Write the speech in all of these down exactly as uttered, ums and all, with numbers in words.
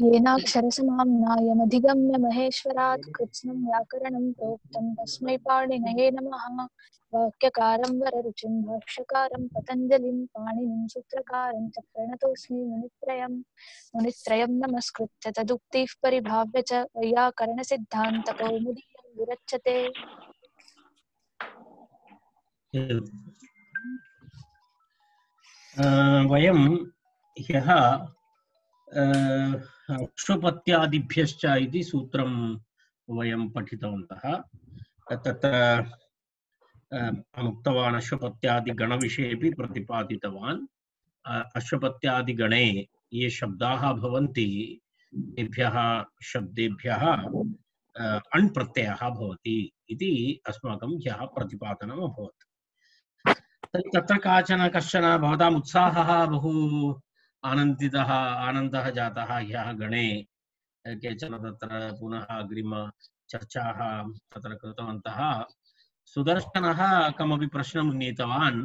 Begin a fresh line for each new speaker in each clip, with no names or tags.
येनाक्षरसमाम्नायमधिगम्य महेश्वरात् कृत्स्नं व्याकरणं प्रोक्तं तस्मै पाणिनये नमः। वाक्यकारं वररुचिं भाष्यकारं पतञ्जलिं पाणिनिं सूत्रकारं च प्रणतोऽस्मि मुनित्रयं मुनित्रयं नमस्कृत्य तदुक्तिः परिभाव्य च वैयाकरणसिद्धान्तकौमुदीयं विरच्यते।
वयं ह्यः अक्षुपत्यादिभ्यश्च इति सूत्रं वयं पठितवन्तः। तत्र उक्तवान् अश्वपत्यादिगणविषयेपि प्रतिपादितवान्। अश्वपत्यादिगणे ये शब्दाः भवन्ति तेभ्यः शब्देभ्यः अण् प्रत्ययः भवति इति अस्माकं ह्यः प्रतिपादनम् अभवत्। तत्र काचन कश्चन भवताम् उत्साहः बहु आनन्दितः आनन्दः जातः ह्यः गणे। केचन तत्र पुनः अग्रिम चर्चाः तत्र कृतवन्तः। सुदर्शनः कमपि प्रश्नम् नीतवान्,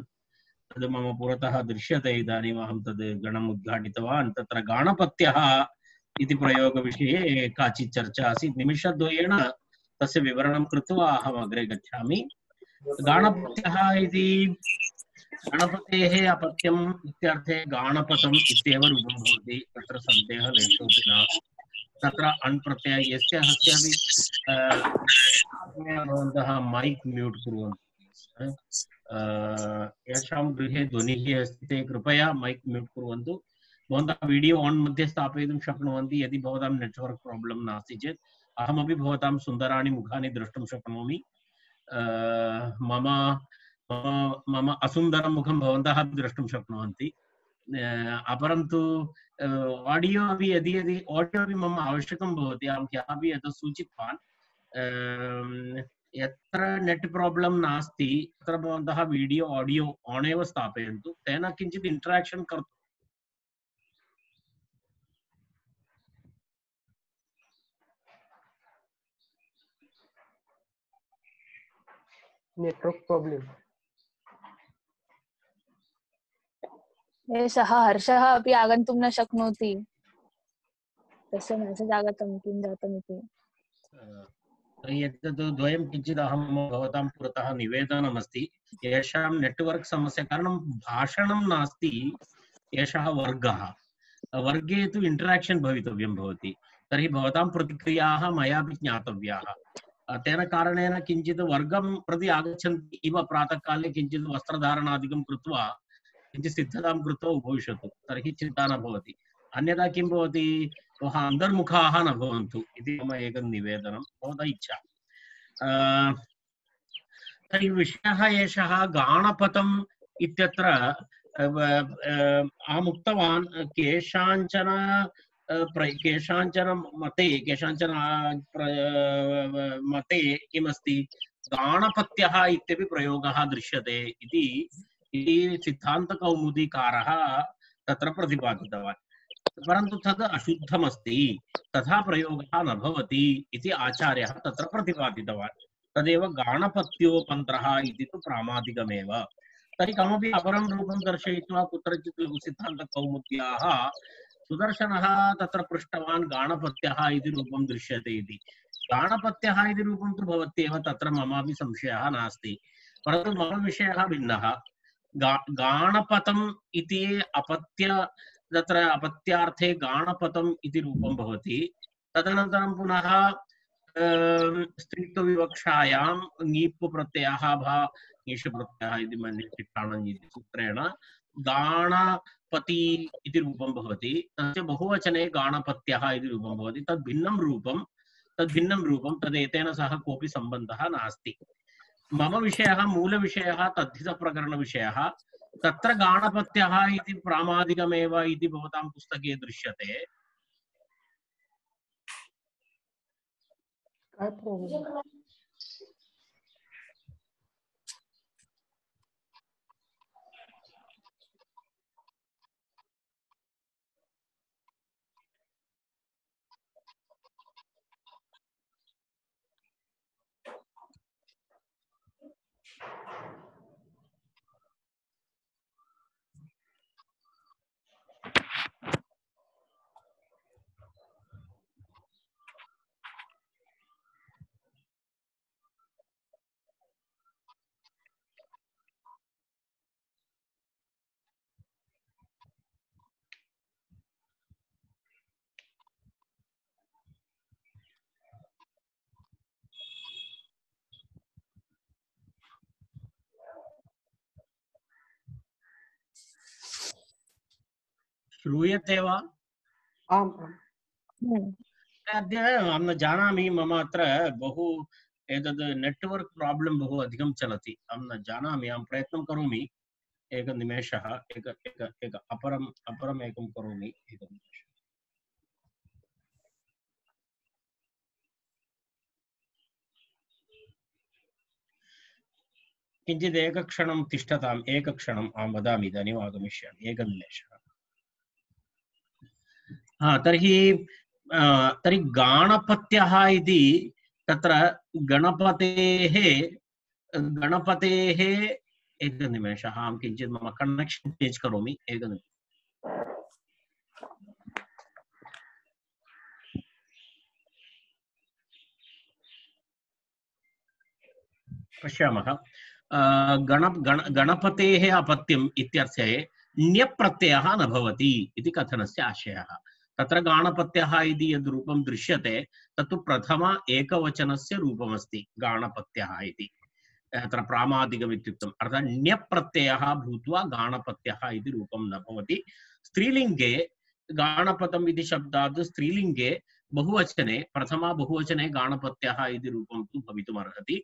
तद् मम पुरतः दृश्यते इदानीम्। अहं तद् गणम् उद्घाटितवान्। तत्र गाणपत्यः इति प्रयोगविषये काचित् चर्चा आसीत्। निमिषद्वयेन तस्य विवरणं कृत्वा अहम् अग्रे गच्छामि। गाणपत्यः इति गणपतेः अपत्यम् इत्यर्थे गाणपतम् इत्येव रूपं भवति। तत्र सन्देहः लेशोऽपि न। तत्र अण् प्रत्ययः यस्य हस्यापि भवन्तः मैक् म्यूट् कुर्वन्तु। येषां गृहे ध्वनिः अस्ति ते कृपया मैक् म्यूट् कुर्वन्तु। भवन्तः वीडियो आन् मध्ये स्थापयितुं शक्नुवन्ति। यदि भवतां नेट्वर्क् प्राब्लम् नास्ति चेत् अहमपि भवतां सुन्दराणि मुखानि द्रष्टुं शक्नोमि। मम मम असुन्दरं मुखं भवन्तः द्रष्टुं शक्नुवन्ति। अपरं तु आडियो अपि यदि यदि आडियो अपि मम आवश्यकं भवति, अहं ह्यः अपि एतत् सूचितवान्। यत्र नेट् प्राब्लम् नास्ति तत्र भवन्तः वीडियो आडियो आन् एव स्थापयन्तु, तेन किञ्चित् इण्टराक्षन् कर्तुं
नेट्वर्क् प्राब्लम्।
सः हर्षः अपि आगन्तुं न शक्नोति। तस्य मेसेज् आगतं किं जातम् इति।
एतद् द्वयं किञ्चित् अहं भवतां पुरतः निवेदनमस्ति। येषां नेट्वर्क् समस्या कारणं भाषणं नास्ति, एषः वर्गः। वर्गे तु इण्टराक्षन् भवितव्यं भवति। तर्हि भवतां प्रतिक्रियाः मयापि ज्ञातव्याः। तेन कारणेन किञ्चित् वर्गं प्रति आगच्छन्ति इव प्रातःकाले किञ्चित् वस्त्रधारणादिकं कृत्वा किञ्चित् सिद्धतां कृत्वा उपविशतु, तर्हि चिन्ता न भवति। अन्यथा किं भवति, वः अन्तर्मुखाः न भवन्तु इति मम एकं निवेदनं, भवतः इच्छा। तर्हि विषयः एषः गाणपतम् इत्यत्र अहम् उक्तवान् केषाञ्चन केषाञ्चन मते केषाञ्चन मते किमस्ति, गाणपत्यः इत्यपि प्रयोगः दृश्यते इति सिद्धान्तकौमुदीकारः तत्र प्रतिपादितवान्। परन्तु तद् अशुद्धमस्ति, तथा प्रयोगः न भवति इति आचार्यः तत्र प्रतिपादितवान्। तदेव गाणपत्योपन्त्रः इति तु प्रामादिकमेव। तर्हि कमपि अपरं रूपं दर्शयित्वा कुत्रचित् लघुसिद्धान्तकौमुद्याः सुदर्शनः तत्र पृष्टवान् गाणपत्यः इति रूपं दृश्यते इति। गाणपत्यः इति रूपं तु भवत्येव, तत्र ममापि संशयः नास्ति। परन्तु मम विषयः भिन्नः। गा गाणपतम् इति अपत्य तत्र अपत्यार्थे गाणपतम् इति रूपं भवति। तदनन्तरं पुनः स्त्रीत्वविवक्षायां ङीप् प्रत्ययः भा ङीष् प्रत्ययः इति मन्ये टिप्पाणम् इति सूत्रेण गाणपति इति रूपं भवति। तस्य बहुवचने गाणपत्यः इति रूपं भवति। तद् भिन्नं रूपं तद् भिन्नं रूपं तद् एतेन सह कोऽपि सम्बन्धः नास्ति। मम विषयः मूलविषयः तद्धितप्रकरणविषयः। तत्र गाणपत्यः इति प्रामादिकमेव इति भवतां पुस्तके दृश्यते। श्रूयते वा?
आम् आम्।
अद्य अहं न जानामि, मम अत्र बहु एतद् नेट्वर्क् प्राब्लम् बहु अधिकं चलति। अहं न जानामि, अहं प्रयत्नं करोमि। एकनिमेषः, एक एक एक अपरम् अपरम् एकं करोमि। एकनिमेषः। किञ्चित् एकक्षणं तिष्ठताम्, एकक्षणम् अहं वदामि, इदानीम् आगमिष्यामि। एकनिमेषः। हा, तर्हि तर्हि गाणपत्यः इति तत्र गणपतेः गणपतेः एकनिमेषः, अहं किञ्चित् मम कनेक्षन् चेञ्ज् करोमि। एकनिमेषः। पश्यामः। गण गण गणपतेः अपत्यम् इत्यर्थे ण्यप्रत्ययः न भवति इति कथनस्य आशयः। तत्र गाणपत्यः इति यद् रूपं दृश्यते तत्तु प्रथम एकवचनस्य रूपमस्ति गाणपत्यः इति। अत्र प्रामादिकम् इत्युक्तम्, अर्थात् ण्यप्रत्ययः भूत्वा गाणपत्यः इति रूपं न भवति। स्त्रीलिङ्गे गाणपतम् इति शब्दात् स्त्रीलिङ्गे बहुवचने प्रथमा बहुवचने गाणपत्यः इति रूपं तु भवितुमर्हति,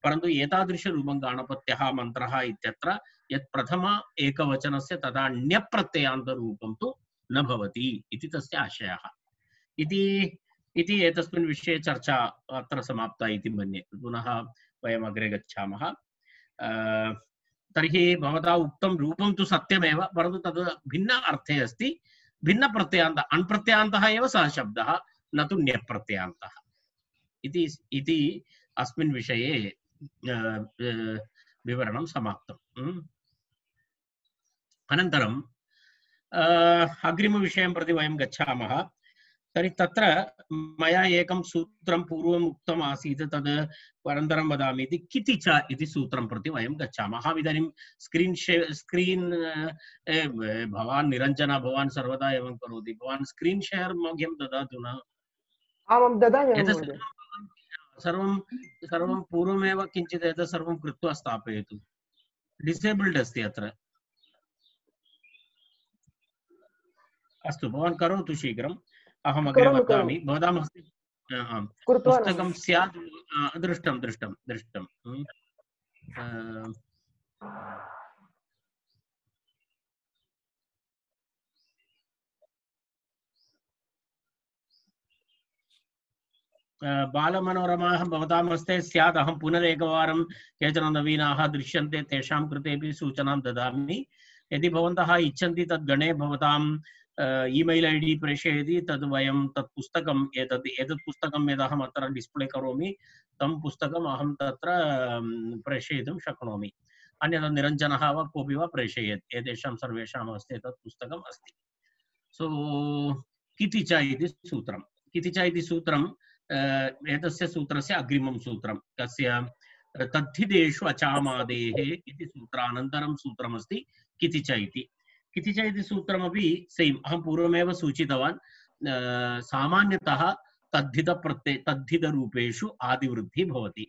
परन्तु एतादृशरूपं गाणपत्यः मन्त्रः इत्यत्र यत् प्रथम एकवचनस्य तथा ण्यप्रत्ययान्तरूपं तु न भवति इति तस्य आशयः। इति इति एतस्मिन् विषये चर्चा अत्र समाप्ता इति मन्ये। पुनः वयम् अग्रे गच्छामः। तर्हि भवता उक्तं रूपं तु सत्यमेव, परन्तु तद् भिन्न अर्थे अस्ति। भिन्नप्रत्ययान्तः, अण्प्रत्ययान्तः एव सः शब्दः, न तु ण्यप्रत्ययान्तः इति इति अस्मिन् विषये विवरणं समाप्तम्। अनन्तरम् अग्रिमविषयं प्रति वयं गच्छामः। तर्हि तत्र मया एकं सूत्रं पूर्वम् उक्तम् आसीत्, तद् अनन्तरं वदामि इति। किति च इति सूत्रं प्रति वयं गच्छामः। अहम् इदानीं स्क्रीन् शे स्क्रीन् भवान् निरञ्जन, भवान् सर्वदा एवं करोति, भवान् स्क्रीन् शेर् मह्यं ददातु न?
आमां ददामि महोदय।
सर्वं सर्वं पूर्वमेव किञ्चित् एतत् सर्वं कृत्वा स्थापयतु। डिसेबल्ड् अस्ति अत्र। अस्तु, भवान् करोतु शीघ्रम्, अहम् अग्रे वदामि। भवतां हस्ते पुस्तकं स्यात्? दृष्टं दृष्टं दृष्टं बालमनोरमाः भवतां हस्ते स्यात्। अहं पुनरेकवारं केचन नवीनाः दृश्यन्ते तेषां कृतेपि सूचनां ददामि। यदि भवन्तः इच्छन्ति तद् गणे भवतां ईमेल् ऐ डी प्रेषयति, तद् वयं तत् पुस्तकम् एतत् एतत् पुस्तकं यदहम् अत्र डिस्प्ले करोमि तं पुस्तकम् अहं तत्र प्रेषयितुं शक्नोमि। अन्यथा निरञ्जनः वा कोऽपि वा प्रेषयेत्। एतेषां सर्वेषां हस्ते तत् पुस्तकम् अस्ति। सो किति च इति सूत्रं किति च इति सूत्रं एतस्य सूत्रस्य अग्रिमं सूत्रं कस्य तद्धितेषु अचामादेः इति सूत्रानन्तरं सूत्रमस्ति किति च इति। किति च इति सूत्रमपि सेम् अहं पूर्वमेव सूचितवान्। सामान्यतः तद्धितप्रत्यय तद्धितरूपेषु आदिवृद्धिः भवति,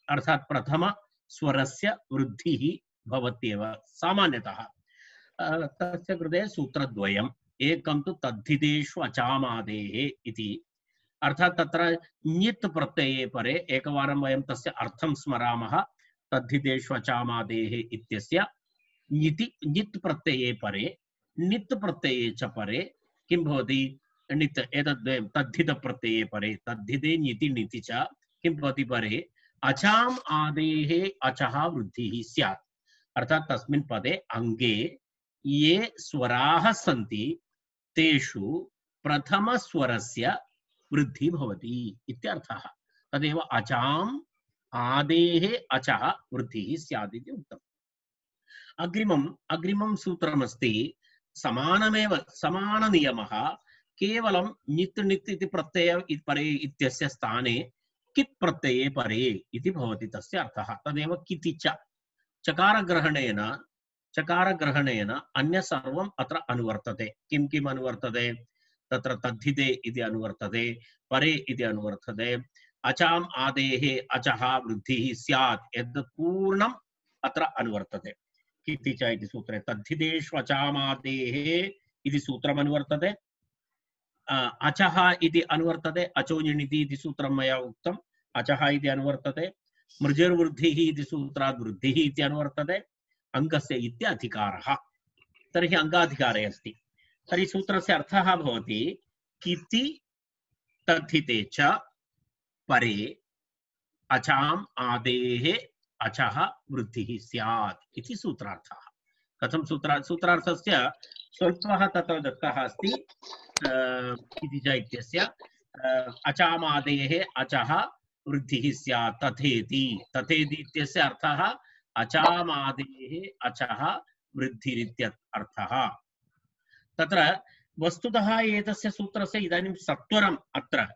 अर्थात् प्रथम स्वरस्य वृद्धिः भवत्येव सामान्यतः। तस्य कृते सूत्रद्वयम्। एकं तु तद्धितेषु अचामादेः इति, अर्थात् तत्र ञित् प्रत्यये परे एकवारं वयं तस्य अर्थं स्मरामः। तद्धितेषु अचामादेः इत्यस्य ञिति ञित् प्रत्यये परे नित् प्रत्यये च परे किं भवति? नित्। एतद् तद्धित प्रत्यये परे तद्धिते ञिति णिति च किं भवति? परे अचाम् आदेः अचः वृद्धिः स्यात्। अर्थात् तस्मिन् पदे अङ्गे ये स्वराः सन्ति तेषु प्रथमस्वरस्य वृद्धि भवति इत्यर्थः। तदेव अचाम् आदेः अचः वृद्धिः स्यात् इति उक्तम्। अग्रिमम् अग्रिमं सूत्रमस्ति समानमेव समाननियमः। केवलं ञित् णित् इति प्रत्यय परे इत्यस्य स्थाने कित् प्रत्यये परे इति भवति तस्य अर्थः। तदेव किति च। चकारग्रहणेन चकारग्रहणेन अन्य सर्वम् अत्र अनुवर्तते। किं किम् अनुवर्तते? तत्र तद्धिते इति अनुवर्तते, परे इति अनुवर्तते, अचाम् आदेः अचः वृद्धिः स्यात् एतत् पूर्णम् अत्र अनुवर्तते। किति च इति सूत्रे तद्धितेषु अचामादेः इति सूत्रम् अनुवर्तते। अचः इति अनुवर्तते, अचोनिणिति इति सूत्रं मया उक्तम्, अचः इति अनुवर्तते। मृजिर्वृद्धिः इति सूत्रात् वृद्धिः इति अनुवर्तते। अङ्गस्य इति अधिकारः, तर्हि अङ्गाधिकारे अस्ति। तर्हि सूत्रस्य अर्थः भवति किति तद्धिते च परे अचाम् आदेः अचः वृद्धिः स्यात् इति सूत्रार्थः। कथं सूत्रा सूत्रार्थस्य स्वल्पः तत्र दत्तः अस्ति। इति च इत्यस्य अचामादेः अचः वृद्धिः स्यात् तथेति। तथेति इत्यस्य अर्थः अचामादेः अचः वृद्धिरित्यर्थः। तत्र वस्तुतः एतस्य सूत्रस्य इदानीं सत्वरम् अत्र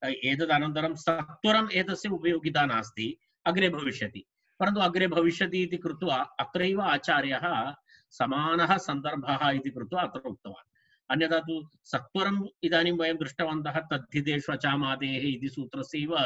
एतदनन्तरं सत्वरम् एतस्य उपयोगिता नास्ति, अग्रे भविष्यति। परन्तु अग्रे भविष्यति इति कृत्वा अत्रैव आचार्यः समानः सन्दर्भः इति कृत्वा अत्र उक्तवान्। अन्यथा तु सत्वरम् इदानीं वयं दृष्टवन्तः तद्धितेषु अचामादेः इति सूत्रस्यैव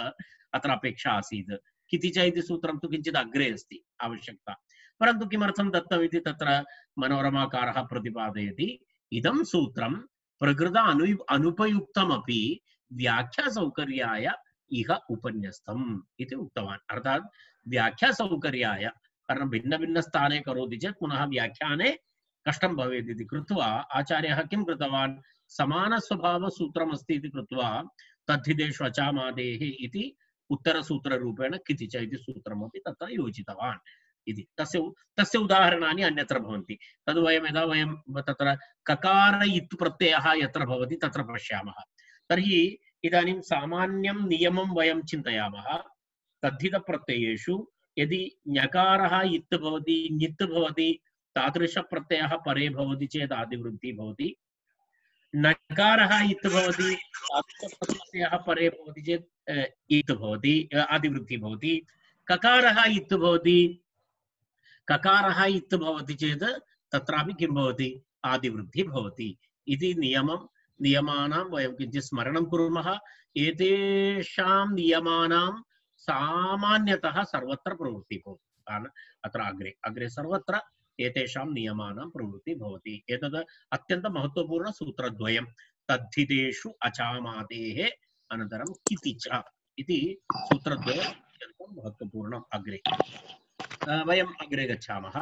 अत्र अपेक्षा आसीत्। किति च इति सूत्रं तु किञ्चित् अग्रे अस्ति आवश्यकता। परन्तु किमर्थं दत्तम् इति तत्र मनोरमाकारः प्रतिपादयति। इदं सूत्रं प्रकृत अनु अनुपयुक्तमपि व्याख्यासौकर्याय इह उपन्यस्तम् इति उक्तवान्। अर्थात् व्याख्यासौकर्याय, कारण भिन्न भिन्न स्थाने करोति चेत् पुनः व्याख्याने कष्टं भवेत् इति कृत्वा आचार्यः किं कृतवान्, समानस्वभावसूत्रमस्ति इति कृत्वा तद्धितेषु अचामादेः इति उत्तरसूत्ररूपेण किति च इति सूत्रमपि तत्र योजितवान् इति। तस्य तस्य उदाहरणानि अन्यत्र भवन्ति। तद् वयं यदा वयं तत्र ककार इत् प्रत्ययः यत्र भवति तत्र पश्यामः। तर्हि इदानीं सामान्यं नियमं वयं चिन्तयामः। तद्धितप्रत्ययेषु यदि ञकारः इत् भवति, ञित् भवति, तादृशप्रत्ययः परे भवति चेत् आदिवृद्धिः भवति। नकारः इत् भवति, तादृशप्रत्ययः परे भवति चेत् इत् भवति, आदिवृद्धिः भवति। ककारः इत् भवति, ककारः इत् भवति चेत् तत्रापि किं भवति, आदिवृद्धिः भवति इति नियमं नियमानां वयं किञ्चित् स्मरणं कुर्मः। एतेषां नियमानां सामान्यतः सर्वत्र प्रवृत्तिः भवति। कारण अत्र अग्रे अग्रे सर्वत्र एतेषां नियमानां प्रवृत्तिः भवति। एतद् अत्यन्तं महत्त्वपूर्ण सूत्रद्वयं, तद्धितेषु अचामादेः अनन्तरं किति च इति सूत्रद्वयम् अत्यन्तं महत्त्वपूर्णम्। अग्रे वयम् अग्रे गच्छामः।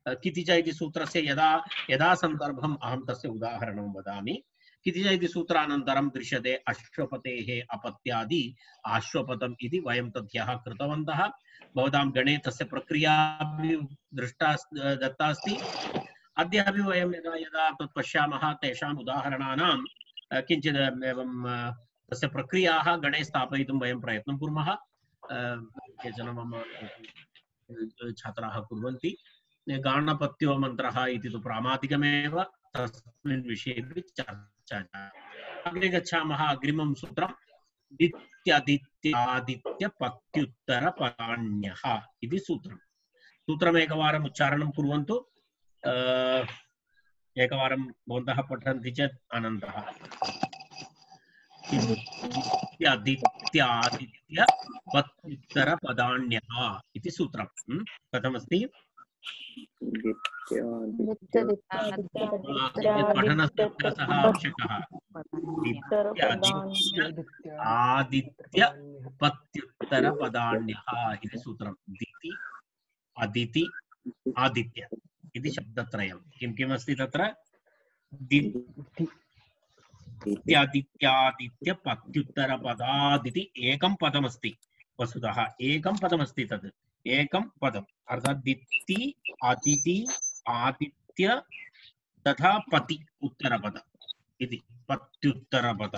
किति च इति सूत्रस्य यदा यदा सन्दर्भम् अहं तस्य उदाहरणं वदामि। किति च इति सूत्रानन्तरं दृश्यते अश्वपतेः अपत्यादि आश्वपतम् इति वयं तद्यः कृतवन्तः। भवतां गणे तस्य प्रक्रिया दृष्टा दत्ता अस्ति। अद्य अपि वयं यदा यदा तत् पश्यामः तेषाम् उदाहरणानां किञ्चित् एवं तस्य प्रक्रियाः गणे स्थापयितुं वयं प्रयत्नं कुर्मः। केचन मम छात्राः कुर्वन्ति। गाणपत्यो मन्त्रः इति तु प्रामादिकमेव, तस्मिन् विषये चर्चा। अग्रे गच्छामः। अग्रिमं सूत्रं दित्यादित्यादित्यपत्युत्तरपदान्यः इति सूत्रं। सूत्रमेकवारम् उच्चारणं कुर्वन्तु। एकवारं भवन्तः पठन्ति चेत् आनन्दः। दित्यादित्यादित्यपत्युत्तरपदान्यः इति सूत्रं कथमस्ति? पठनस्य अभ्यासः आवश्यकः। आदित्य पत्युत्तरपदान्यः इति सूत्रं। दिति अदिति आदित्य इति शब्दत्रयं किं किम् अस्ति तत्र? दित्यादित्यादित्य पत्युत्तरपदादिति एकं पदमस्ति। वस्तुतः एकं पदमस्ति तद्, एकं पदम्। अर्थात् दिति अदिति आदित्य तथा पति उत्तरपद इति पत्युत्तरपद।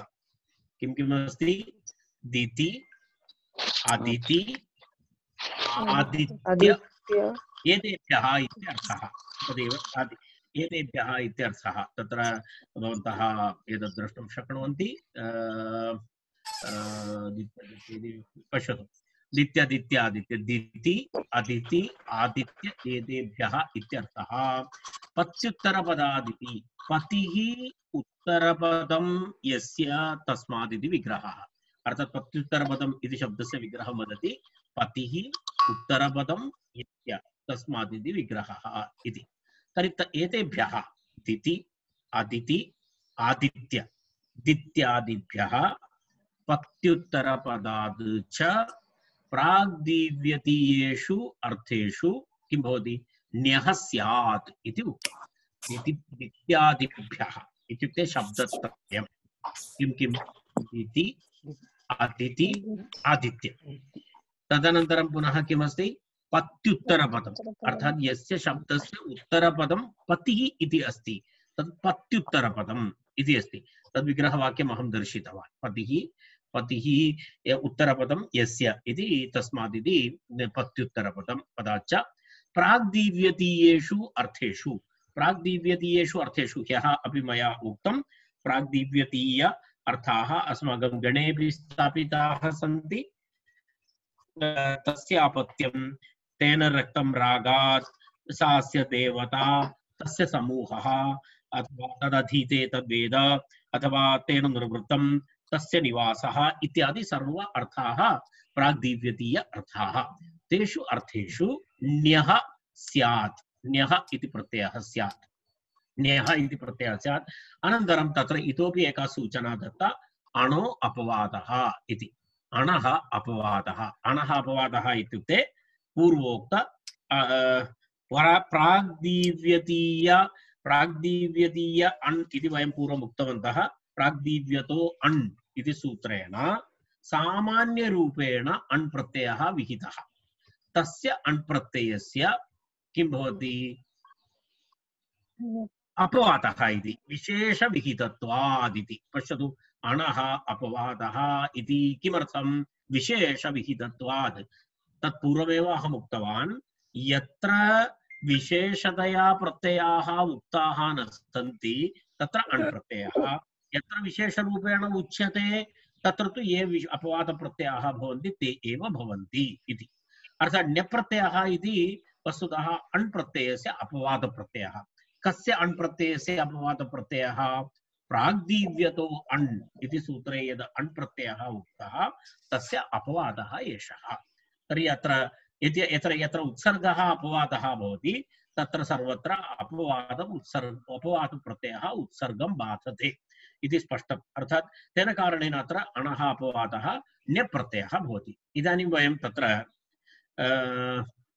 किं किम् अस्ति? दिति अदिति आदित्य एतेभ्यः इत्यर्थः। तदेव एतेभ्यः इत्यर्थः। तत्र भवन्तः एतत् द्रष्टुं शक्नुवन्ति। पश्यतु, दित्यादित्यादित्य दिति अदिति आदित्य एतेभ्यः इत्यर्थः। पत्युत्तरपदादिति पतिः उत्तरपदं यस्य तस्मादिति विग्रहः। अर्थात् पत्युत्तरपदम् इति शब्दस्य विग्रहं वदति पतिः उत्तरपदं यस्य तस्मादिति विग्रहः इति। तर्हि एतेभ्यः दिति अदिति आदित्य दित्यादिभ्यः पत्युत्तरपदाद् च प्राग्दिव्यतीयेषु अर्थेषु किं भवति ण्यः स्यात् इति उक्तम्। दिति दित्यादिभ्यः इत्युक्ते शब्दत्रयं किं किं दिति अदिति आदित्य तदनन्तरं पुनः किमस्ति पत्युत्तरपदम् अर्थात् यस्य शब्दस्य उत्तरपदं पतिः इति अस्ति तत् पत्युत्तरपदम् इति अस्ति। तद् विग्रहवाक्यम् अहं दर्शितवान्। पतिः पतिः उत्तरपदं यस्य इति तस्मादिति पत्युत्तरपदं पदाच्च प्राग्दिव्यतीयेषु अर्थेषु प्राग्दिव्यतीयेषु अर्थेषु ह्यः अपि मया उक्तं प्राग्दिव्यतीय अर्थाः अस्माकं गणेऽपि स्थापिताः सन्ति। तस्य अपत्यं तेन रक्तं रागात् सास्य देवता तस्य समूहः अथवा तदधीते तद्वेद अथवा तेन निर्वृत्तं तस्य निवासः इत्यादि सर्व अर्थाः प्राग्दिव्यतीय अर्थाः। तेषु अर्थेषु ण्यः स्यात् ण्यः इति प्रत्ययः स्यात् ण्यः इति प्रत्ययः स्यात्। अनन्तरं तत्र इतोपि एका सूचना दत्ता अणो अपवादः इति। अणः अपवादः अणः अपवादः इत्युक्ते पूर्वोक्त प्राग्दिव्यतीय प्राग्दिव्यतीय अण् इति वयं पूर्वम् उक्तवन्तः। प्राग्दिव्यतो अण् इति सूत्रेण सामान्यरूपेण अण् प्रत्ययः विहितः। तस्य अण् प्रत्ययस्य किं भवति अपवादः इति विशेषविहितत्वादिति। पश्यतु अणः अपवादः इति किमर्थं विशेषविहितत्वात् तत्पूर्वमेव अहम् उक्तवान् यत्र विशेषतया प्रत्ययाः उक्ताः न सन्ति तत्र अण् प्रत्ययः यत्र विशेषरूपेण उच्यते तत्र तु ये अपवादप्रत्ययाः भवन्ति ते एव भवन्ति इति। अर्थात् ण्यप्रत्ययः इति वस्तुतः अण् प्रत्ययस्य अपवादप्रत्ययः। कस्य अण् प्रत्ययस्य अपवादप्रत्ययः प्राग्दिव्यतो अण् इति सूत्रे यद् अण् प्रत्ययः उक्तः तस्य अपवादः एषः। तर्हि अत्र यत्र यत्र उत्सर्गः अपवादः भवति तत्र सर्वत्र अपवादम् उत्सर्ग अपवादप्रत्ययः उत्सर्गं बाधते इति स्पष्टम्। अर्थात् तेन कारणेन अत्र अणः अपवादः ण्यप्रत्ययः भवति। इदानीं वयं तत्र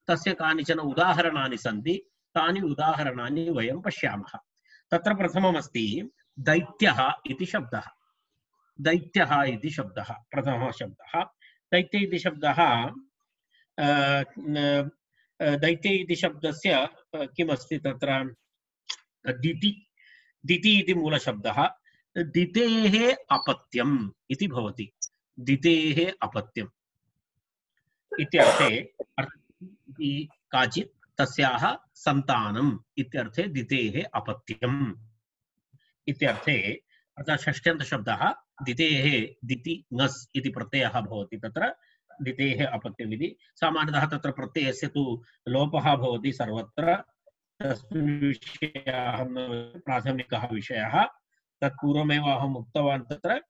तस्य कानिचन उदाहरणानि सन्ति। तानि उदाहरणानि वयं पश्यामः। तत्र प्रथममस्ति दैत्यः इति शब्दः। दैत्यः इति शब्दः प्रथमः शब्दः। दैत्य इति शब्दः दैत्य इति शब्दस्य किमस्ति तत्र दिति दिति इति मूलशब्दः। दितेः अपत्यम् इति भवति। दितेः अपत्यम् इत्यर्थे काचित् तस्याः सन्तानम् इत्यर्थे दितेः अपत्यम् इत्यर्थे अर्थात् षष्ट्यन्तशब्दः दितेः दिति ङस् इति प्रत्ययः भवति। तत्र दितेः अपत्यम् इति सामान्यतः तत्र प्रत्ययस्य तु लोपः भवति सर्वत्र। तस्मिन् विषये अहं प्राथमिकः विषयः तत्पूर्वमेव अहम् उक्तवान्। तत्र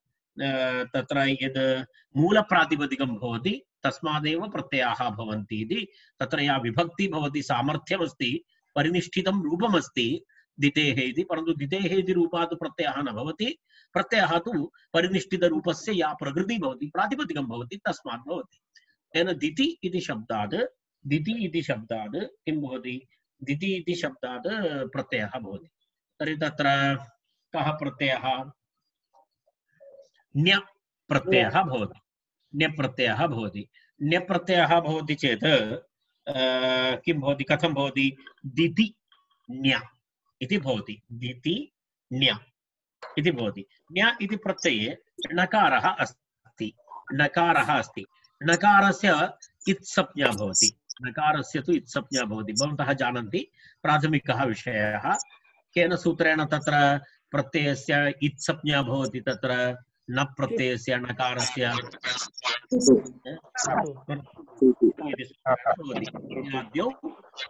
तत्र यद् मूलप्रातिपदिकं भवति तस्मादेव प्रत्ययाः भवन्ति इति। तत्र या विभक्ति भवति सामर्थ्यमस्ति परिनिष्ठितं रूपमस्ति दितेः इति। परन्तु दितेः इति रूपात् प्रत्ययः न भवति। प्रत्ययः तु परिनिष्ठितरूपस्य या प्रकृतिः भवति प्रातिपदिकं भवति तस्मात् भवति। तेन दिति इति शब्दात् दिति इति शब्दात् किं भवति दिति इति शब्दात् प्रत्ययः भवति। तर्हि तत्र कः प्रत्ययः ण्य प्रत्ययः भवति। ण्य प्रत्ययः भवति। ण्य प्रत्ययः भवति चेत् किं भवति कथं भवति दिति ण्य इति भवति। दिति ण्य इति भवति। ण्य इति प्रत्यये णकारः अस्ति। णकारः अस्ति। णकारस्य इत्संज्ञा भवति। णकारस्य तु इत्संज्ञा भवति। भवन्तः जानन्ति प्राथमिकः विषयः केन सूत्रेण तत्र प्रत्ययस्य इत्संज्ञा भवति। तत्र न प्रत्ययस्य णकारस्य प्रत्ययाद्यौ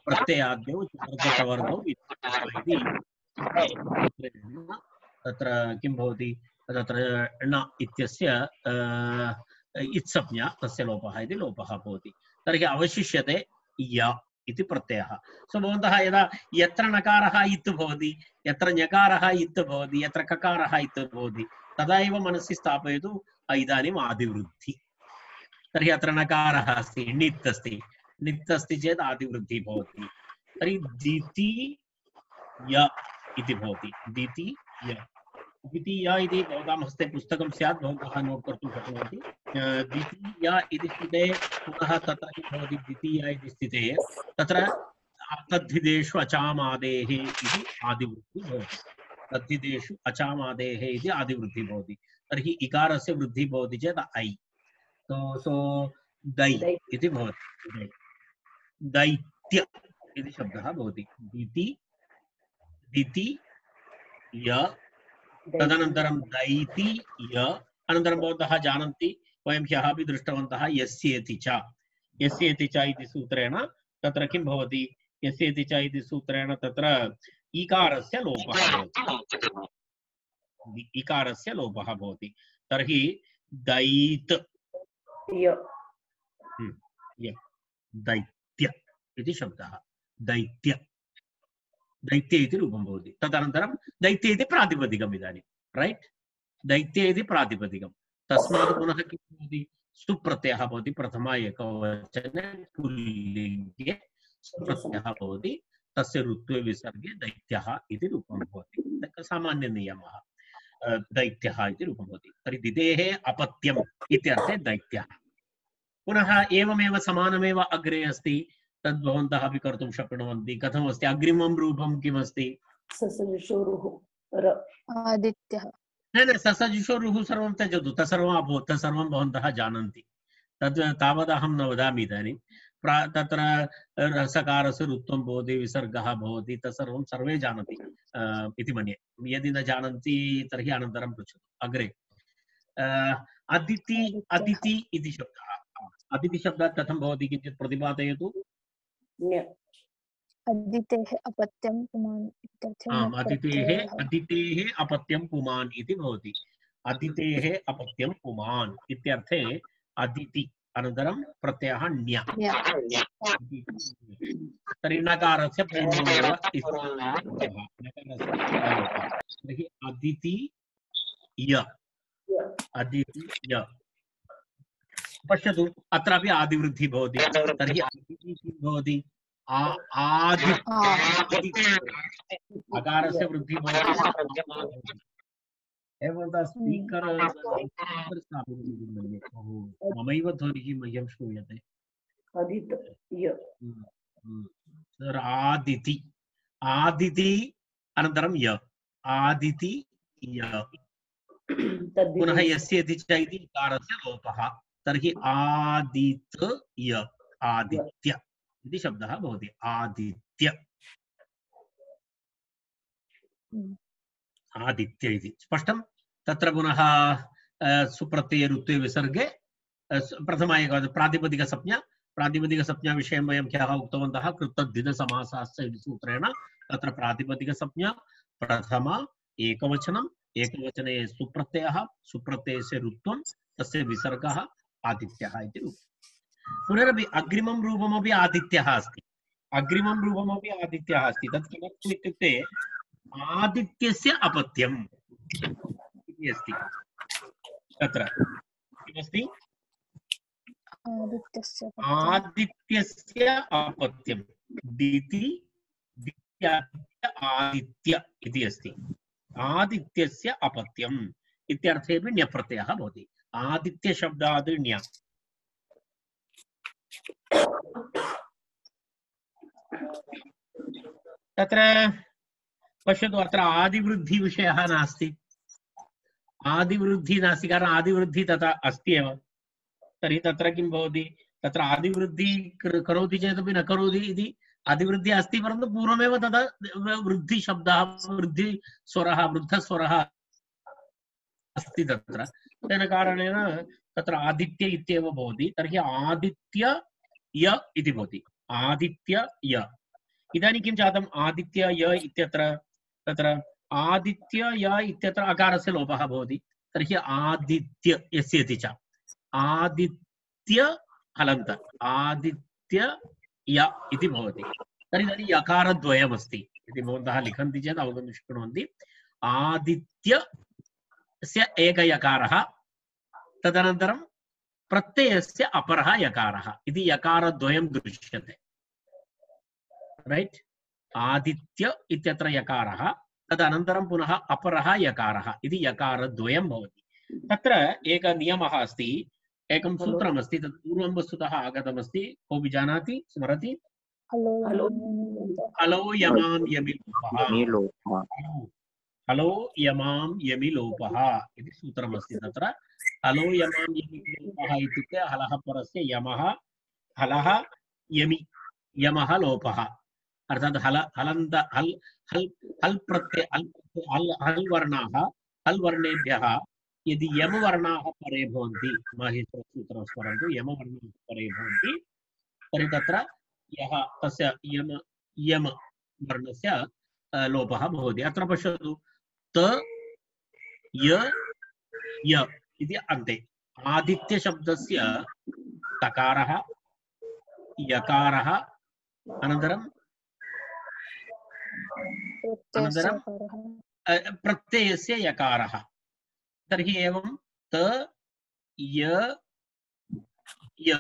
प्रत्ययाद्यौ चतुर्थवर्गौ इति तत्र किं भवति तत्र ण इत्यस्य इत्संज्ञा तस्य लोपः इति लोपः भवति। तर्हि अवशिष्यते य इति प्रत्ययः सो भवन्तः यदा यत्र नकारः इत् भवति यत्र ञकारः इत् भवति यत्र ककारः इत् भवति तदा एव मनसि स्थापयतु इदानीम् आदिवृद्धि तर्हि अत्र नकारः अस्ति णित् अस्ति णित् अस्ति चेत् आदिवृद्धिः भवति तर्हि द्वितीय इति भवति द्वितीय द्वितीय इति भवतां हस्ते पुस्तकं स्यात् भवन्तः नोट् कर्तुं शक्नुवन्ति द्वितीय इति स्थिते पुनः तत्र किं भवति द्वितीय इति स्थिते तत्र तद्धिदेषु अचामादेः इति आदिवृद्धिः भवति तद्धिदेषु अचामादेः इति आदिवृद्धिः भवति तर्हि इकारस्य वृद्धिः भवति चेत् ऐ तो सो दै इति भवति दैत्य इति शब्दः भवति द्विति द्वितीय तदनन्तरं दैति य अनन्तरं भवन्तः जानन्ति वयं ह्यः अपि दृष्टवन्तः यस्येति च यस्येति च इति सूत्रेण तत्र किं भवति यस्येति च इति सूत्रेण तत्र ईकारस्य लोपः भवति ईकारस्य लोपः भवति तर्हि दैत् दैत्य इति शब्दः दैत्य दैत्य इति रूपं भवति तदनन्तरं दैत्य इति प्रातिपदिकम् इदानीं रैट् दैत्य इति प्रातिपदिकं तस्मात् पुनः किं भवति सुप्रत्ययः भवति प्रथम एकवचने पुल्लिङ्गे सुप्रत्ययः भवति तस्य ऋत्वे विसर्गे दैत्यः इति रूपं भवति सामान्यनियमः दैत्यः इति रूपं भवति तर्हि दिदेः अपत्यम् इत्यर्थे दैत्यः पुनः एवमेव समानमेव अग्रे अस्ति तद् भवन्तः अपि कर्तुं शक्नुवन्ति कथमस्ति अग्रिमं रूपं किमस्ति
आदित्यः
न न ससजुषोरुः सर्वं त्यजतु तत्सर्वम् अभवत् तत्सर्वं भवन्तः जानन्ति तद् तावदहं न वदामि इदानीं प्रा तत्र रसकारस्य ऋत्वं भवति विसर्गः भवति तत्सर्वं सर्वे जानन्ति इति मन्ये यदि न जानन्ति तर्हि अनन्तरं पृच्छतु अग्रे अदिति अदिति इति शब्दः अदिति शब्दः कथं भवति किञ्चित् प्रतिपादयतु
अदितेः अपत्यं पुमान्
आम् अदितेः अदितेः अपत्यं पुमान् इति भवति अदितेः अपत्यं पुमान् इत्यर्थे अदिति अनन्तरं प्रत्ययः ण्य तर्हि नकारस्य पूर्वमेव तर्हि अदिति य अदिति य पश्यतु अत्रापि आदिवृद्धिः भवति तर्हि अदिति किं भवति आदि अकारस्य वृद्धिः भवति एवं स्पीकर् ममैव ध्वनिः मह्यं श्रूयते आदिति आदिति अनन्तरं य आदिति य पुनः यस्य इति च इति इकारस्य लोपः तर्हि आदित्य आदित्य इति शब्दः भवति आदित्य आदित्य इति स्पष्टं तत्र पुनः सुप्रत्यये ऋत्वे विसर्गे प्रथम एक प्रातिपदिकसंज्ञा प्रातिपदिकसंज्ञा विषयं वयं ह्यः उक्तवन्तः कृतद्धितसमासस्य इति सूत्रेण तत्र प्रातिपदिकसंज्ञा प्रथम एकवचनम् एकवचने सुप्रत्ययः सुप्रत्ययस्य ऋत्वं तस्य विसर्गः आदित्यः इति रूपम् पुनरपि अग्रिमं रूपमपि आदित्यः अस्ति अग्रिमं रूपमपि आदित्यः अस्ति तत् किमर्थम् इत्युक्ते आदित्यस्य अपत्यम् इति अस्ति तत्र किमस्ति आदित्यस्य अपत्यं दिति आदित्य इति अस्ति आदित्यस्य अपत्यम् इत्यर्थेपि ण्यप्रत्ययः भवति आदित्य शब्दात् ण्य तत्र पश्यतु अत्र आदिवृद्धिविषयः नास्ति आदिवृद्धिः नास्ति कारण आदिवृद्धिः तथा अस्ति एव तर्हि तत्र किं भवति तत्र आदिवृद्धिः करोति चेदपि न करोति इति आदिवृद्धिः अस्ति परन्तु पूर्वमेव तदा वृद्धिशब्दः वृद्धिस्वरः वृद्धस्वरः अस्ति तत्र तेन कारणेन तत्र आदित्य इत्येव भवति तर्हि आदित्य य इति भवति आदित्य य इदानीं किं जातम् आदित्य य इत्यत्र तत्र आदित्य य इत्यत्र अकारस्य लोपः भवति तर्हि आदित्य यस्येति च आदित्य हलन्त आदित्य य इति भवति। तर्हि तर्हि यकारद्वयमस्ति इति भवन्तः लिखन्ति चेत् अवगन्तुं शक्नुवन्ति। आदित्यस्य एकयकारः, तदनन्तरं प्रत्ययस्य अपरः यकारः इति यकारद्वयं दृश्यते। रैट्? आदित्य इत्यत्र यकारः, तदनन्तरं पुनः अपरः यकारः इति यकारद्वयं भवति। तत्र एकः नियमः अस्ति, एकं सूत्रमस्ति, तत् पूर्वं वस्तुतः आगतमस्ति। कोऽपि जानाति, स्मरति? हलो यमां यमि लोपः, हलो यमां यमि लोपः इति सूत्रमस्ति। तत्र हलो यमां यमि लोपः इत्युक्ते हलः परस्य यमः, हलः यमि यमः लोपः, अर्थात् हल हलन्त हल् हल् हल् प्रत्यय हल् हल् हल् वर्णाः, हल् वर्णेभ्यः यदि यमवर्णाः परे भवन्ति, माहेश्वरसूत्रं स्मरन्तु, यमवर्णाः परे भवन्ति, तर्हि तत्र यः तस्य यम यम वर्णस्य लोपः भवति। अत्र पश्यतु, त य य इति अन्ते आदित्यशब्दस्य तकारः, यकारः, अनन्तरं अनन्तरं प्रत्ययस्य यकारः। तर्हि एवं त य य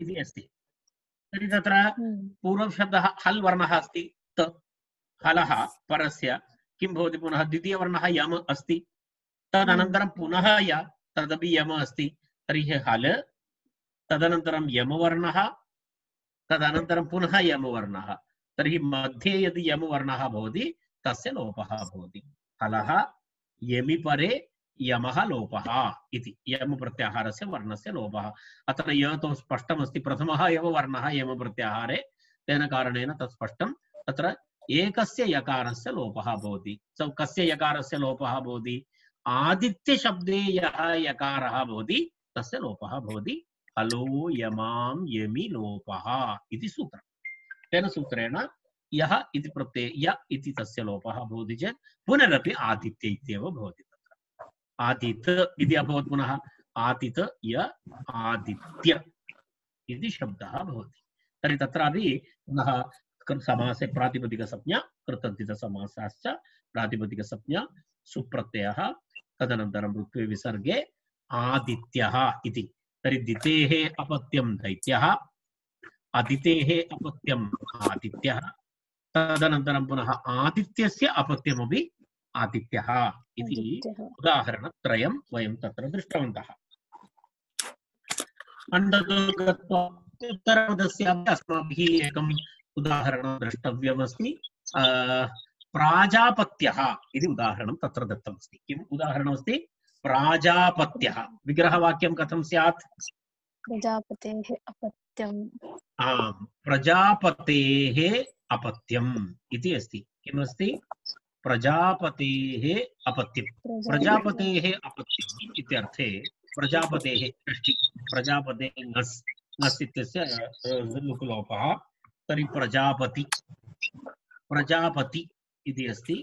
इति अस्ति। तर्हि तत्र पूर्वशब्दः हल् वर्णः अस्ति, त हलः परस्य किं भवति, पुनः द्वितीयवर्णः यम अस्ति, तदनन्तरं पुनः य, तदपि यम अस्ति। तर्हि हल, तदनन्तरं यमवर्णः, तदनन्तरं पुनः यमवर्णः। तर्हि मध्ये यदि यमवर्णः भवति तस्य लोपः भवति। हलः यमि परे यमः लोपः इति यम प्रत्याहारस्य वर्णस्य लोपः। अत्र य तु स्पष्टमस्ति, प्रथमः एव वर्णः यम प्रत्याहारे, तेन कारणेन तत् स्पष्टं। तत्र एकस्य यकारस्य लोपः भवति। सो कस्य यकारस्य लोपः भवति? आदित्यशब्दे यः यकारः भवति तस्य लोपः भवति। हलो यमां यमि लोपः इति सूत्रम्। तेन सूत्रेण यः इति प्रत्यय य इति तस्य लोपः भवति चेत् पुनरपि आदित्य इत्येव भवति। तत्र आदित इति अभवत्, पुनः आदित य आदित्य इति शब्दः भवति। तर्हि तत्रापि पुनः समासे प्रातिपदिकसंज्ञा, कृतद्धितसमासाश्च प्रातिपदिकसंज्ञा, सुप्रत्ययः, तदनन्तरं ऋत्वे विसर्गे आदित्यः इति। तर्हि दितेः अपत्यं दैत्यः, अदितेः अपत्यम् आदित्यः, तदनन्तरं पुनः आदित्यस्य अपत्यमपि आदित्यः इति उदाहरणत्रयं वयं तत्र दृष्टवन्तः। उत्तरपदस्य अस्माभिः एकम् उदाहरणं द्रष्टव्यमस्ति। प्राजापत्यः इति उदाहरणं तत्र दत्तमस्ति। किम् उदाहरणमस्ति? प्राजापत्यः। विग्रहवाक्यं कथं स्यात्?
प्रजापतेः अपत्यम्।
आम्, प्रजापतेः अपत्यम् इति अस्ति। किमस्ति? प्रजापतेः अपत्यम्। प्रजापतेः अपत्यम् इत्यर्थे प्रजापतेः षष्ठी, प्रजापतेः ङस् ङस् इत्यस्य लुक्लोपः, तर्हि प्रजापति प्रजापति इति अस्ति।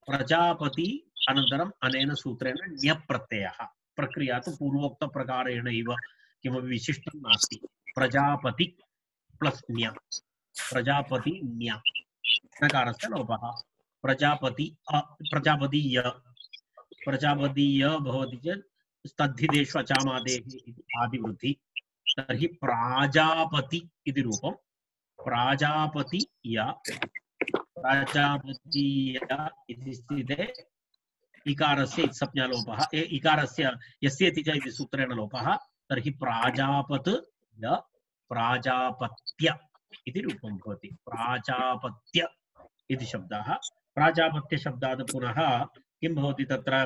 प्रजापति अनन्तरम् अनेन सूत्रेण ण्यप्रत्ययः। प्रक्रिया तु पूर्वोक्तप्रकारेण एव, किमपि विशिष्टं नास्ति। प्रजापति प्लस् ण्य, प्रजापति ण्य, नकारस्य लोपः। प्रजापति प्रजापति य, प्रजापति य भवति चेत् स्तद्धितेषु अचामादेः इति आदिवृद्धि। तर्हि प्राजापति इति रूपं। प्राजापति य, प्राजापति य इति स्थिते इकारस्य संज्ञालोपः, इकारस्य यस्य इति च इति सूत्रेण लोपः। तर्हि प्राजापत् य प्राजापत्य इति रूपं भवति। प्राजापत्य इति शब्दः। प्राजापत्यशब्दात् पुनः किं भवति? तत्र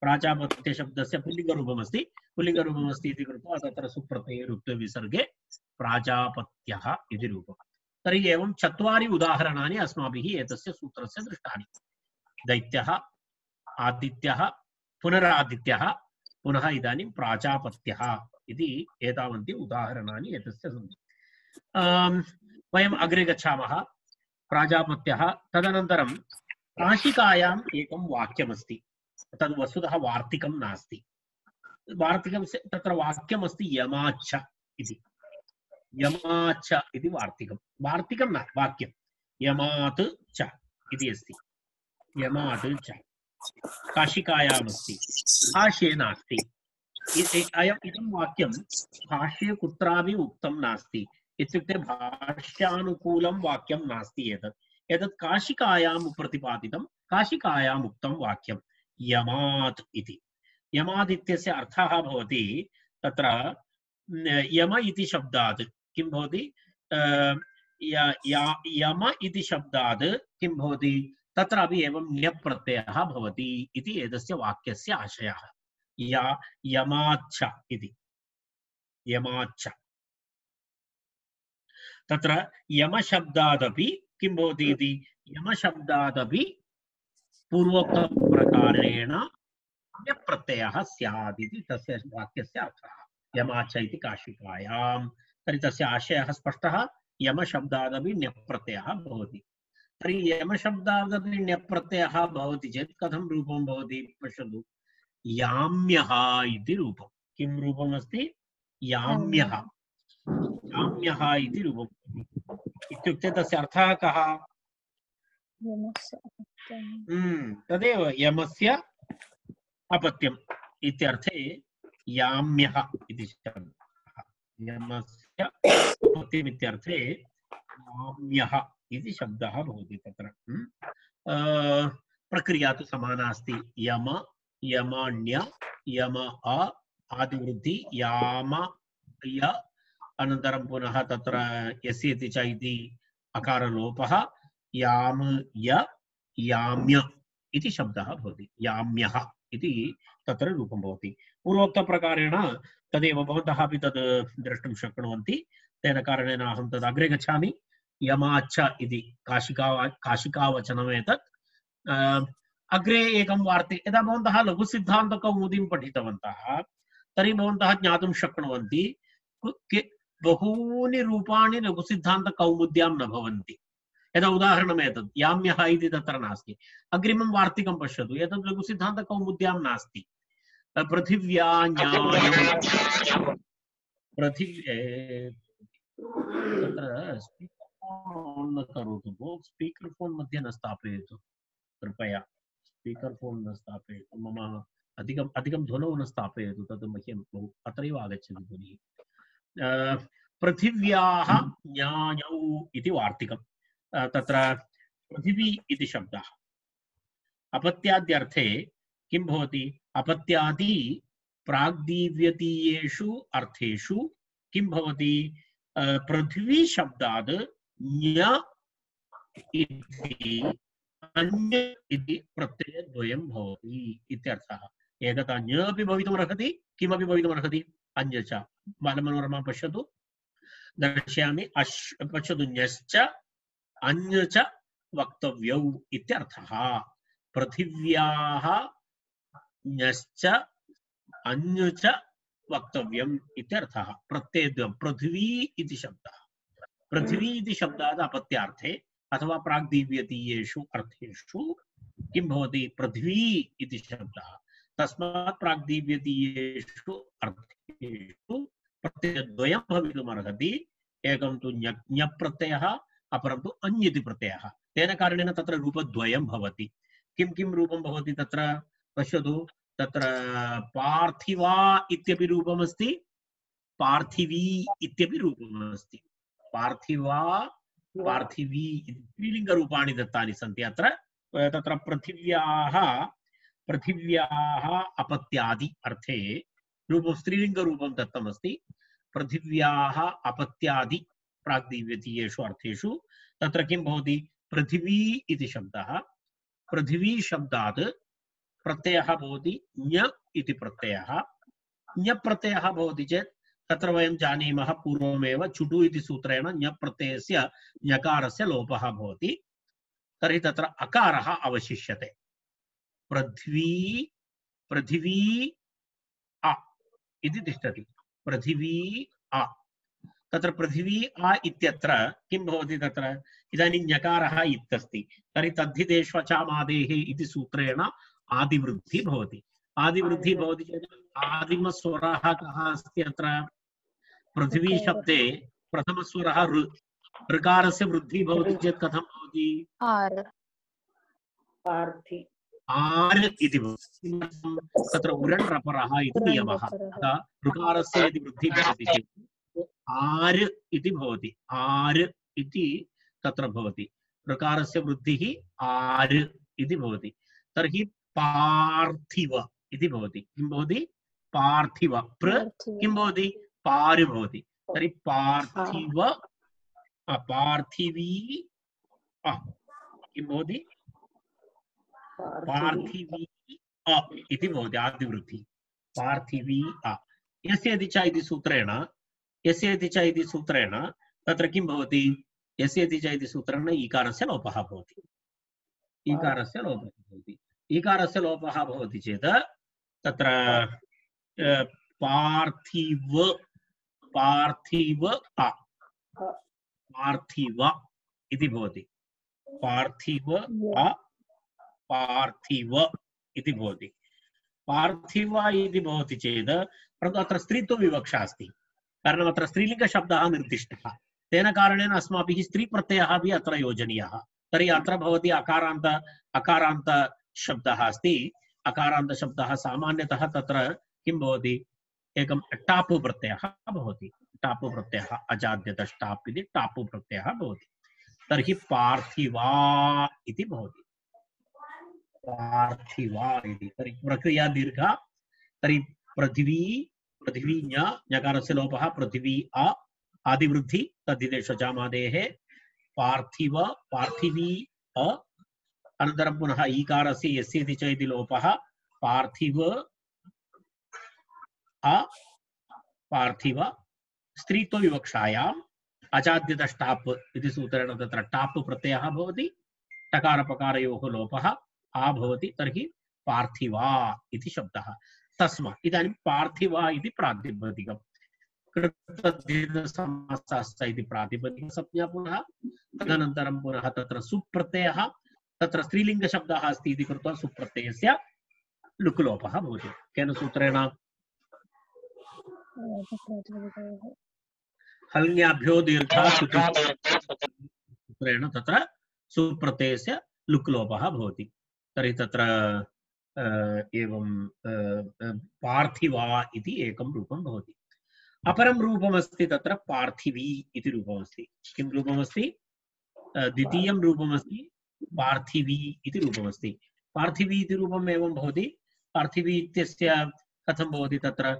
प्राजापत्यशब्दस्य पुल्लिङ्गरूपमस्ति। पुल्लिङ्गरूपमस्ति इति कृत्वा तत्र सुप्रत्यये ऋत्वे विसर्गे प्राजापत्यः इति रूपम्। तर्हि एवं चत्वारि उदाहरणानि अस्माभिः एतस्य सूत्रस्य दृष्टानि। दैत्यः, आदित्यः, पुनरादित्यः, पुनः इदानीं प्राजापत्यः इति एतावन्ति उदाहरणानि एतस्य सन्ति। वयम् अग्रे गच्छामः। प्राजापत्यः, तदनन्तरं काशिकायाम् एकं वाक्यमस्ति। तद् वस्तुतः वार्तिकं नास्ति। वार्तिकं तत्र वाक्यमस्ति यमाच्छ इति। यमाच इति वार्तिकं वार्तिकं न वाक्यं यमात् च इति अस्ति यमात् च काशिकायाम् अस्ति भाष्ये नास्ति अयम् इदं वाक्यं भाष्ये कुत्रापि उक्तं नास्ति इत्युक्ते भाष्यानुकूलं वाक्यं नास्ति एतत् एतत् काशिकायां प्रतिपादितं काशिकायाम् उक्तं वाक्यं यमात् इति यमात् इत्यस्य अर्थः भवति तत्र यम इति शब्दात् किं भवति यम इति शब्दात् किं भवति तत्रापि एवं ण्यप्रत्ययः भवति इति एतस्य वाक्यस्य आशयः या यमाच्छ इति यमाच्छ तत्र यमशब्दादपि किं भवति इति यमशब्दादपि पूर्वोक्तप्रकारेण ण्यप्रत्ययः स्यात् इति तस्य वाक्यस्य अर्थः यमाच्छ इति काशिकायां तर्हि तस्य आशयः स्पष्टः यमशब्दादपि ण्यप्रत्ययः भवति तर्हि यमशब्दादपि ण्यप्रत्ययः भवति चेत् कथं रूपं भवति पश्यतु याम्यः इति रूपं किं रूपम् अस्ति याम्यः याम्यः इति रूपम् इत्युक्ते तस्य अर्थः कः तदेव यमस्य अपत्यम् इत्यर्थे याम्यः इति शब्दः यमस्य अपत्यम् इत्यर्थे याम्यः इति शब्दः भवति तत्र प्रक्रिया तु समाना अस्ति यम यमण्य यम अ आदिवृद्धि याम य अनन्तरं पुनः तत्र यस्य इति च इति अकारलोपः याम य याम्य इति शब्दः भवति याम्यः इति तत्र रूपं भवति पूर्वोक्तप्रकारेण तदेव भवन्तः अपि तद् द्रष्टुं शक्नुवन्ति तेन कारणेन अहं तद् अग्रे गच्छामि यमाच्छ इति काशिका काशिकावचनम् एतत् अग्रे एकं वार्ति यदा भवन्तः लघुसिद्धान्तकौमुदीं पठितवन्तः तर्हि भवन्तः ज्ञातुं शक्नुवन्ति बहूनि रूपाणि लघुसिद्धान्तकौमुद्यां न भवन्ति यदा उदाहरणम् एतत् याम्यः इति तत्र नास्ति अग्रिमं वार्तिकं पश्यतु एतत् लघुसिद्धान्तकौमुद्यां नास्ति पृथिव्या पृथिव्ये तत्र स्पीकर् न करोतु भो स्पीकर् फोन् मध्ये न स्थापयतु कृपया स्पीकर् फोन् न स्थापयतु मम अधिकम् अधिकं ध्वनौ न स्थापयतु तद् मह्यं बहु अत्रैव आगच्छति ध्वनिः पृथिव्याः न्यायौ इति वार्तिकं तत्र पृथिवी इति शब्दः अपत्याद्यर्थे किं भवति अपत्यादि प्राग्दिव्यतीयेषु अर्थेषु किं भवति पृथिवी शब्दात् न्य इति अन्य इति प्रत्ययद्वयं भवति इत्यर्थः एकदा न्य अपि भवितुमर्हति किमपि भवितुमर्हति अन्य च बालमनोरमा पश्यतु दर्शयामि अश् पश्यतु न्यश्च अन्य च वक्तव्यौ इत्यर्थः पृथिव्याः न्यश्च अन्य च वक्तव्यम् इत्यर्थः प्रत्ययद्वयं पृथिवी इति शब्दः पृथिवी इति शब्दात् अपत्यार्थे अथवा प्राग्दिव्यतीयेषु अर्थेषु किं भवति पृथिवी इति शब्दः तस्मात् प्राग्दिव्यतीयेषु अर्थेषु प्रत्ययद्वयं भवितुमर्हति एकं तु ञ प्रत्ययः अपरं तु अन्य इति प्रत्ययः तेन कारणेन तत्र रूपद्वयं भवति किं किं रूपं भवति तत्र पश्यतु तत्र पार्थिवा इत्यपि रूपमस्ति पार्थिवी इत्यपि रूपमस्ति पार्थिवा पार्थिवी स्त्रीलिङ्गरूपाणि दत्तानि सन्ति अत्र तत्र पृथिव्याः पृथिव्याः अपत्यादि अर्थे रूपं स्त्रीलिङ्गरूपं दत्तमस्ति पृथिव्याः अपत्यादि प्राग्दिव्यतीयेषु अर्थेषु तत्र किं भवति पृथिवी इति शब्दः पृथिवी शब्दात् प्रत्ययः भवति ञ इति प्रत्ययः ञ प्रत्ययः भवति चेत् तत्र वयं जानीमः पूर्वमेव चुटु इति सूत्रेण ञ प्रत्ययस्य ञकारस्य लोपः भवति तर्हि तत्र अकारः अवशिष्यते पृथ्वी पृथिवी अ इति तिष्ठति पृथिवी अ तत्र पृथिवी अ इत्यत्र किं भवति तत्र इदानीं ञकारः इत्यस्ति तर्हि तद्धितेष्वचामादेः इति सूत्रेण आदिवृद्धि भवति आदिवृद्धि भवति चेत् आदिमस्वरः कः अस्ति अत्र पृथिवी शब्दे प्रथमस्वरः ऋ ऋकारस्य वृद्धिः भवति चेत् कथं भवति
आर्
पार्थि
आर् इति भवति तत्र उरण् रपरः इति नियमः अतः ऋकारस्य यदि वृद्धिः भवति चेत् आर् इति भवति आर् इति तत्र भवति ऋकारस्य वृद्धिः आर् इति भवति तर्हि पार्थिव इति भवति किं भवति पार्थिव प्र किं भवति पार् भवति तर्हि पार्थिव पार्थिवी किं भवति पार्थिवी अ इति भवति आदिवृद्धिः पार्थिवी अ यस्य इति च इति सूत्रेण यस्य इति च इति सूत्रेण तत्र किं भवति यस्य इति च इति सूत्रेण ईकारस्य लोपः भवति ईकारस्य लोपः भवति ईकारस्य लोपः भवति चेत् तत्र पार्थिव पार्थिव अ पार्थिव इति भवति पार्थिव अ पार्थिव इति भवति पार्थिव इति भवति चेत् परन्तु अत्र स्त्रीत्वविवक्षा अस्ति कारणम् अत्र स्त्रीलिङ्गशब्दः निर्दिष्टः तेन कारणेन अस्माभिः स्त्रीप्रत्ययः अपि अत्र योजनीयः तर्हि अत्र भवति अकारान्त अकारान्त शब्दः अस्ति अकारान्त शब्दः सामान्यतः तत्र किं भवति एकं टाप् प्रत्ययः भवति टाप् प्रत्ययः अजाद्यत टाप् इति टाप् प्रत्ययः भवति तर्हि पार्थिवा इति भवति पार्थिवा इति तर्हि प्रक्रिया दीर्घा तर्हि पृथिवी पृथिवी ञ ञकारस्य लोपः पृथिवी अ आदिवृद्धि तद्धिदेश जामादेः पार्थिव पार्थिवी अ अनन्तरं पुनः ईकारस्य यस्य इति च इति लोपः पार्थिव अ पार्थिव स्त्रीत्वविवक्षायाम् अजाद्यत टाप् इति सूत्रेण तत्र टाप् प्रत्ययः भवति टकारपकारयोः लोपः आ भवति तर्हि पार्थिवा इति शब्दः तस्मात् इदानीं पार्थिवा इति प्रातिपदिकं कृतद्धितसमासश्च इति प्रातिपदिकसंज्ञा पुनः तदनन्तरं पुनः तत्र सुप्रत्ययः तत्र स्त्रीलिङ्गशब्दः अस्ति इति कृत्वा सुप्रत्ययस्य लुक् लोपः भवति केन सूत्रेण हल्ङ्याभ्यो दीर्घा सूत्रेण तत्र सुप्रत्ययस्य लुक् लोपः भवति तर्हि तत्र एवं पार्थिवा इति एकं रूपं भवति अपरं रूपमस्ति तत्र पार्थिवी इति रूपमस्ति किं रूपमस्ति द्वितीयं रूपमस्ति पार्थिवी इति रूपमस्ति पार्थिवी इति रूपम् एवं भवति पार्थिवी इत्यस्य कथं भवति तत्र